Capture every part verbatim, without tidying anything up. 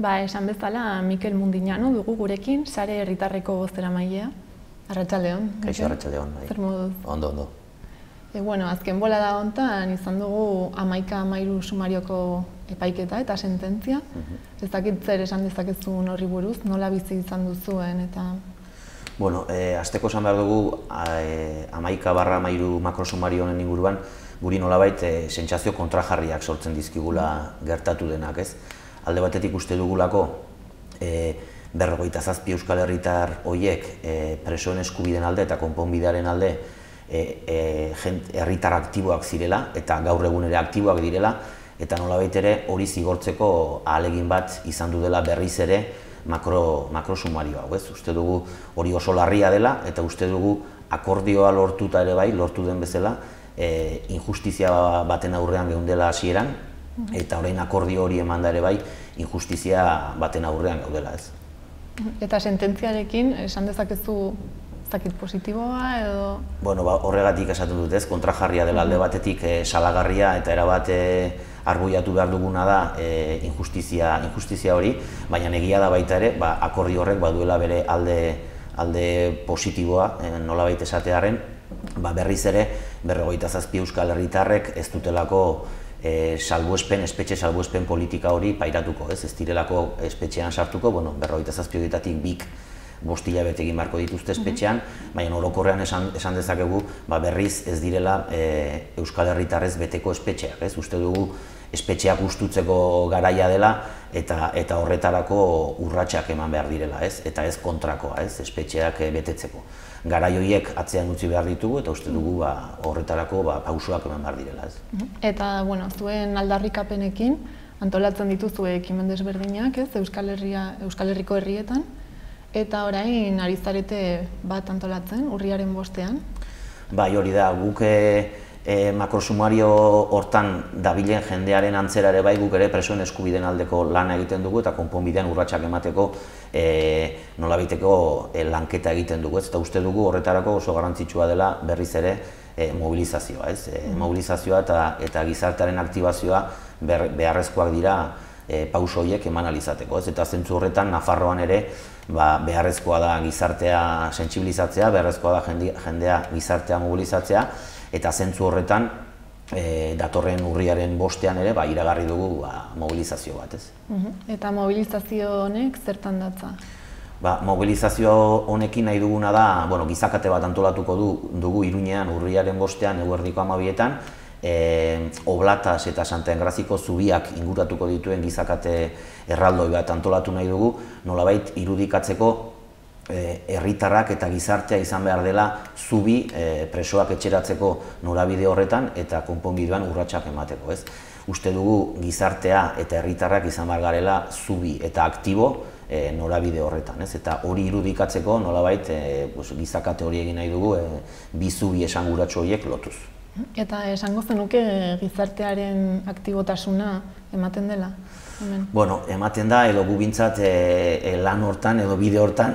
Ba, esan bezala, Mikel Mundiñano dugu gurekin, Sare Herritarreko bozeramailea. Arratsaldeon. Kaixo, arratsaldeon. Zer moduz? Ondo, ondo. E, bueno, azken bolada hontan izan dugu hamaika hamairu sumarioko epaiketa eta sententzia. Ez dakit zer esan dezakezun horri buruz, nola bizi izan duzuen eta... Bueno, eh, azteko esan behar dugu hamaika barra hamairu makrosumario honen inguruan guri nolabait eh, sentsazio kontrajarriak sortzen dizkigula gertatu denak, ez? Alde batetik uste dugulako eh, berrogeita zazpi euskal herritar horiek eh, presoen eskubideen alde eta konponbidearen alde eh, eh, herritar aktiboak zirela eta gaur egun ere aktiboak direla eta nolabait ere hori zigortzeko ahalegin bat izan du dela berriz ere makro, makrosumario hau, ez? Uste dugu hori oso larria dela eta uste dugu akordioa lortuta ere bai, lortu den bezala, e, injustizia baten aurrean geundela hasieran eta orain akordio hori emanda ere bai, injustizia baten aurrean gaudela, ez? Eta sententziarekin, esan dezakezu zakit positiboa edo... Bueno, ba, horregatik esaten dut, ez? Kontrajarria dela alde batetik e, salagarria eta erabat e, arbuiatu behar duguna da e, injustizia, injustizia hori, baina egia da baita ere, ba, akordio horrek baduela bere alde, alde positiboa, e, nolabait esatearen, ba, berriz ere berrogeita zazpi euskal herritarrek ez dutelako e, salbuespen, espetxe salbuespen politika hori pairatuko, ez? Ez direlako espetxean sartuko, bueno, berrogeita zazpi horietatik bik bost hilabete egin beharko dituzte espetxean, baina orokorrean esan, esan dezakegu ba, berriz ez direla e, euskal herritarrez beteko espetxeak, ez? Uste dugu espetxeak ustutzeko garaia dela eta, eta horretarako urratsak eman behar direla, ez? Eta ez kontrakoa, ez? Espetxeak e, betetzeko. Garai horiek atzean utzi behar ditugu eta uste dugu ba, horretarako ba, pausoak eman behar direla, ez? Eta, bueno, zuen aldarrikapenekin antolatzen dituzue ekimen desberdinak, ez? Euskal Herria, Euskal Herriko herrietan. Eta orain ari zarete bat antolatzen, urriaren bostean? Bai, hori da, guk e, makrosumario hortan dabilen jendearen antzera ere bai, guk ere presoen eskubideen aldeko lana egiten dugu eta konponbidean urratsak emateko e, nolabiteko e, lanketa egiten dugu, ez? Eta uste dugu horretarako oso garrantzitsua dela berriz ere e, mobilizazioa, ez? E, mobilizazioa eta, eta gizartearen aktibazioa ber, beharrezkoak dira e, pauso horiek eman alizateko, ez? Eta zentzu horretan Nafarroan ere ba, beharrezkoa da gizartea sentsibilizatzea, beharrezkoa da jendea, jendea gizartea mobilizatzea, eta zentzu horretan e, datorren urriaren bostean ere ba, iragarri dugu ba, mobilizazio bat, ez? Eta mobilizazio honek zertan datza? Ba, mobilizazio honekin nahi duguna da, bueno, gizakate bat antolatuko du, dugu Iruñean urriaren bostean eguerdiko hamabietan, E, Oblatas eta Santa Engraziko zubiak inguratuko dituen gizakate erraldoi bat antolatu nahi dugu, nolabait irudikatzeko herritarrak e, eta gizartea izan behar dela zubi e, presoak etxeratzeko norabide horretan eta konponbidean urratsak emateko, ez? Uste dugu gizartea eta herritarrak izan behar garela zubi eta aktibo e, norabide horretan, ez? Eta hori irudikatzeko nolabait e, pues, gizakate hori egin nahi dugu e, bi zubi esanguratsu horiek lotuz. Eta esango zenuke gizartearen aktibotasuna ematen dela? Hemen. Bueno, ematen da, edo gu bintzat e, e, lan hortan edo bide hortan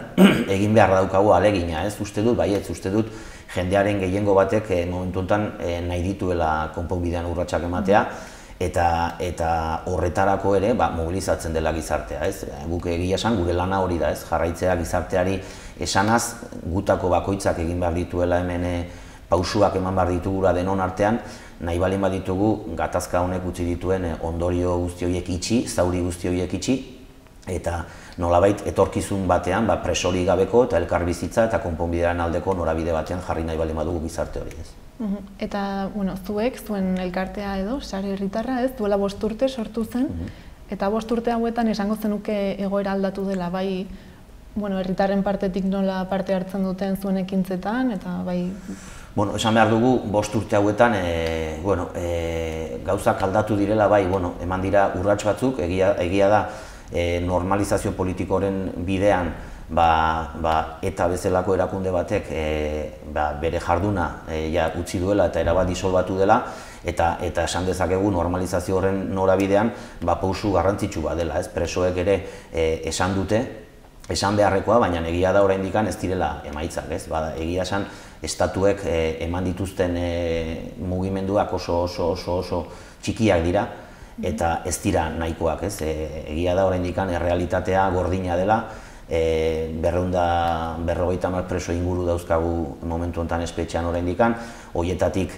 egin behar daukagu alegina, ez? Uste dut, baietz, uste dut jendearen gehiengo batek e, momentu honetan e, nahi dituela konponbidean urratsak ematea, eta, eta horretarako ere ba, mobilizatzen dela gizartea, ez? Guk egia esan gure lana hori da, ez? Jarraitzea gizarteari esanaz, gutako bakoitzak egin behar dituela hemen e, pausuak eman behar ditugula denon artean, nahi balin baditugu gatazka honek utzi dituen ondorio guzti horiek itxi, zauri guzti horiek itxi, eta nolabait etorkizun batean ba, presori gabeko eta elkarbizitza eta konponbidearen aldeko norabide batean jarri nahi balin badugu gizarte hori, ez. Eta, bueno, zuek, zuen elkartea edo, Sare Herritarra, ez, duela bost urte sortu zen, eta bost urte hauetan esango zenuke egoera aldatu dela, bai, bueno, herritarren partetik nola parte hartzen duten zuen ekintzetan, eta bai... Bueno, esan behar dugu, bost urte hauetan, e, bueno, e, gauzak aldatu direla, bai, bueno, eman dira urrats batzuk, egia, egia da e, normalizazio politikoren bidean ba, ba, eta bezalako erakunde batek e, ba, bere jarduna e, ja, utzi duela eta erabat disolbatu dela, eta, eta esan dezakegu normalizazio horren norabidean ba, pausu garrantzitsu bat dela, ez? Presoek ere e, esan dute, esan beharrekoa, baina egia da oraindik ez direla emaitzak, ez? Ba, egia esan estatuek e, eman dituzten e, mugimenduak oso oso oso oso txikiak dira, eta ez dira nahikoak, ez? Egia da oraindik errealitatea gordina dela, berrehun berrogeita hamar preso inguru dauzkagu momentu honetan espetxean oraindik, horietatik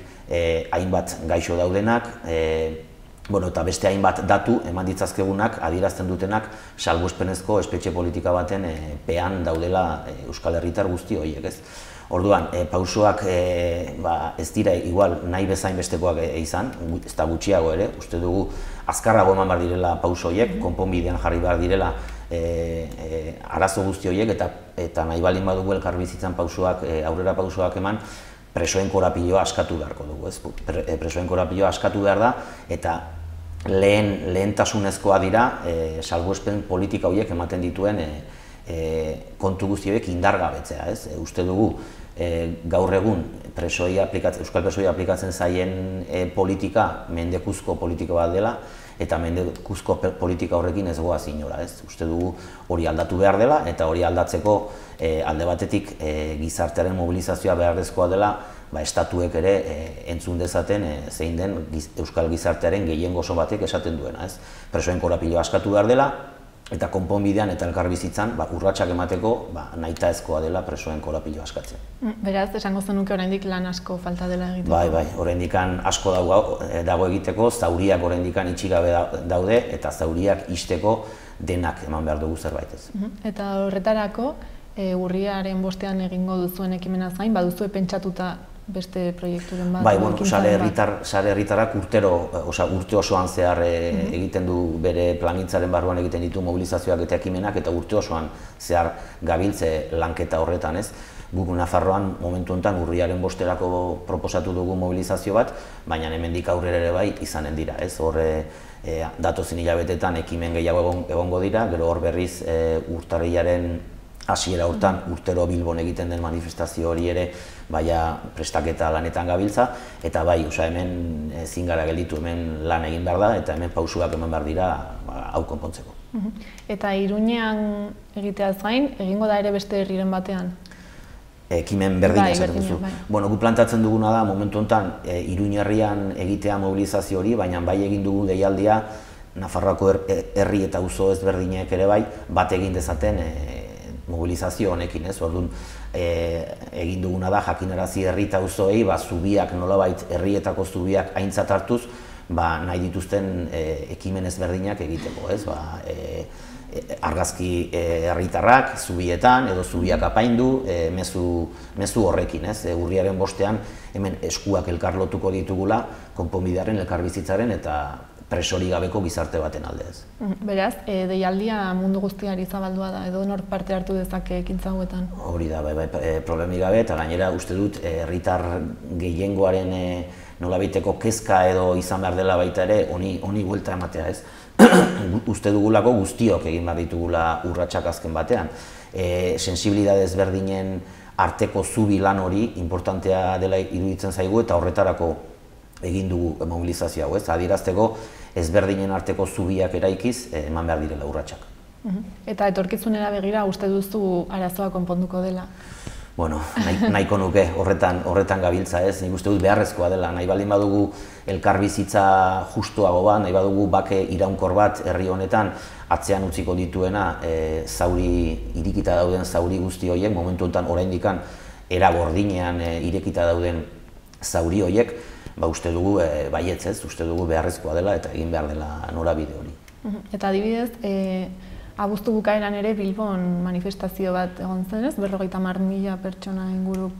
hainbat gaixo daudenak, eta beste hainbat datu eman ditzazkegunak adierazten dutenak salbuespenezko espetxe politika baten pean daudela Euskal Herritar guzti horiek, ez? Orduan, pausoak ez dira igual nahi bezain bestekoak izan, ez da gutxiago ere, uste dugu azkarrago eman behar direla pauso horiek, konponbidean jarri behar direla arazo guzti horiek, eta nahi baldin badugu elkarbizitzan pausoak, aurrera pausoak eman, presoen korapiloa askatu beharko dugu, ez? Presoen korapiloa askatu behar da, eta lehentasunezkoa dira salbuespen politika horiek ematen dituen kontu guzti horiek indargabetzea, ez? Uste dugu gaur egun Euskal presoei aplikatzen zaien politika mendekuzko politika bat dela, eta mendekuzko politika horrekin ez goaz inora, ez? Uste dugu hori aldatu behar dela, eta hori aldatzeko alde batetik gizartearen mobilizazioa beharrezkoa dela, estatuek ere entzun dezaten zein den Euskal gizartearen gehiengo oso batek esaten duena, ez? Presoen korapiloa askatu behar dela, eta konponbidean eta elkarbizitzan urratsak emateko nahitaezkoa dela presoen korapiloa askatzea. Beraz, esango zenuke oraindik lan asko falta dela egiteko? Bai, bai, oraindik asko dago egiteko, zauriak oraindik itxi gabe daude, eta zauriak ixteko denak eman behar dugu zerbait ez. Eta horretarako, urriaren bostean egingo duzuen ekimenaz gain, baduzue pentsatuta beste proiekturen bat? Bai, bueno, sare herritarrak urtero, urte osoan zehar egiten du bere plangintzaren barruan egiten ditu mobilizazioak eta ekimenak, eta urte osoan zehar gabiltze lanketa horretan, ez? Guk Nafarroan momentu honetan urriaren bosterako proposatu dugu mobilizazio bat, baina hemendik aurrera ere bai izanen dira, ez? Horre datozen hilabetetan ekimen gehiago egongo dira, gero hor berriz urtarrilaren hasiera hortan urtero Bilbon egiten den manifestazio hori ere baina prestaketa lanetan gabiltza, eta bai, hemen ezin gara gelditu, hemen lan egin behar da, eta hemen pausuak eman behar dira hau konpontzeko. Eta Iruñean egiteaz gain, egingo da ere beste herriren batean? Ekimen berdina esaten duzu. Bueno, gu plantatzen duguna da, momentu honetan, Iruña herrian egitea mobilizazio hori, baina bai egin dugu deialdia, Nafarroako herri eta auzo ezberdinek ere bai, bat egin dezaten mobilizazio honekin, ez? Orduan, egin duguna da, jakinarazi herri eta auzoei, zubiak nolabait herrietako zubiak aintzat hartuz, nahi dituzten ekimen ezberdinak egiteko, ez? Argazki herritarrak zubietan, edo zubiak apaindu, mezu horrekin, ez? Urriaren bostean, hemen eskuak elkarlotuko ditugula, konponbidearen, elkarbizitzaren eta presori gabeko gizarte baten alde ez. Beraz, deialdia mundu guztiari zabaldua da, edo nor parte hartu dezake ekintza hauetan? Hori da, problemi gabe, eta gainera uste dut herritar gehiengoaren nolabaiteko kezka edo izan behar dela baita ere, honi buelta ematea ez. Uste dugulako guztiok egin behar ditugula urratsak azken batean. Sensibilidade ezberdinen arteko zubi lan hori importantea dela iruditzen zaigu, eta horretarako egin dugu mobilizazio hau ez, adierazteko ezberdinen arteko zubiak eraikiz eman behar direla urratsak. Eta etorkizunera begira uste duzu arazoa konponduko dela? Bueno, nahiko nuke horretan gabiltza ez, nik uste dut beharrezkoa dela, nahi baldin badugu elkarbizitza justuago bat, nahi badugu bake iraunkor bat herri honetan atzean utziko dituena zauri, irekita dauden zauri guzti horiek, momentu honetan oraindik era gordinean irekita dauden zauri horiek, ba uste dugu baietz ez, uste dugu beharrezkoa dela eta egin behar dela norabide hori. Eta adibidez, abuztu bukaeran ere Bilbon manifestazio bat egon zen ez, berrogeita hamar mila pertsona inguruk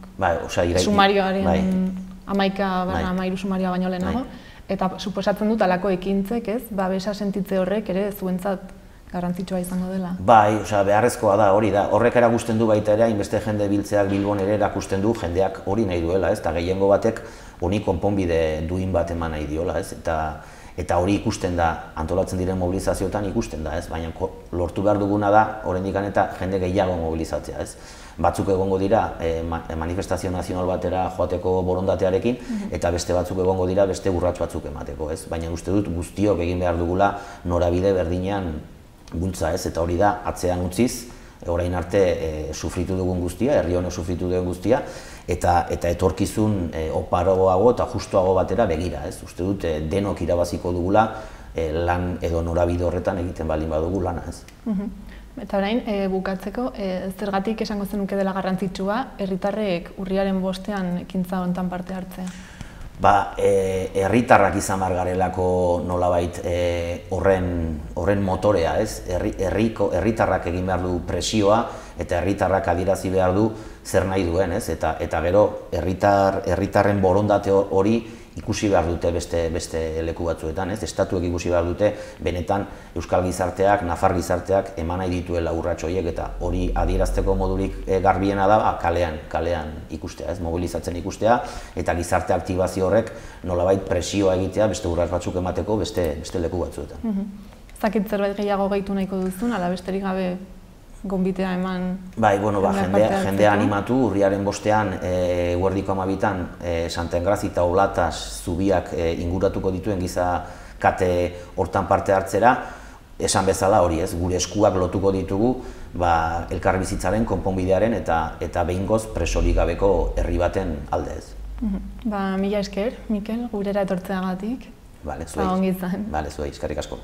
sumarioaren hamaika barra hamairu sumarioa baino lehenago, eta suposatzen dut alako ekintzek ez, babesa sentitze horrek ere zuentzat garrantzitsua izango dela. Bai, beharrezkoa da, hori da, horrek erakusten du baita ere, hainbeste jende biltzeak Bilbon ere erakusten du jendeak hori nahi duela, eta gehiengo batek honi konponbide duin bat eman nahi diola, eta hori ikusten da, antolatzen diren mobilizazioetan ikusten da, baina lortu behar duguna da, oraindik eta jende gehiago mobilizatzea. Batzuk egongo dira manifestazio nazional batera joateko borondatearekin, eta beste batzuk egongo dira beste urrats batzuk emateko, baina uste dut guztiok egin behar dugula norabide berdinean bultza, eta hori da atzean utziz, orain arte sufritu dugun guztia, herri honek sufritu dugun guztia, eta etorkizun oparoago eta justuago batera begira. Uste dut denok irabaziko dugula lan edo norabide horretan egiten baldin badugu lana, ez. Eta orain, bukatzeko, zergatik esango zenuke dela garrantzitsua herritarrek urriaren bostean ekintza honetan parte hartzea? Ba, herritarrak izan behar garelako nolabait horren motorea, ez? Herritarrak egin behar du presioa eta herritarrak adierazi behar du zer nahi duen, ez? Eta gero, herritarren borondate hori ikusi behar dute beste leku batzuetan, ez? Estatuek ikusi behar dute benetan Euskal gizarteak, Nafar gizarteak eman nahi dituela urrats horiek eta hori adierazteko modurik garbiena da kalean, kalean ikustea, ez? Mobilizatzen ikustea eta gizarte aktibazio horrek nolabait presioa egitea beste urrats batzuk emateko beste leku batzuetan. Zakit zerbait gehiago gehitu nahiko duzun, ala besterik gabe gonbitea eman... Bai, bueno, jendea animatu, urriaren bostean, eguerdiko hamabitan, Santa Engrazi eta Olatas zubiak inguratuko dituen giza kate hortan parte hartzera, esan bezala hori ez, gure eskuak lotuko ditugu elkarbizitzaren, konponbidearen eta behingoz presorik gabeko herri baten alde ez. Ba, mila esker, Mikel, gurera etortzeagatik. Bale, zuei. Ba, ongi izan. Bale, zuei, eskerrik asko.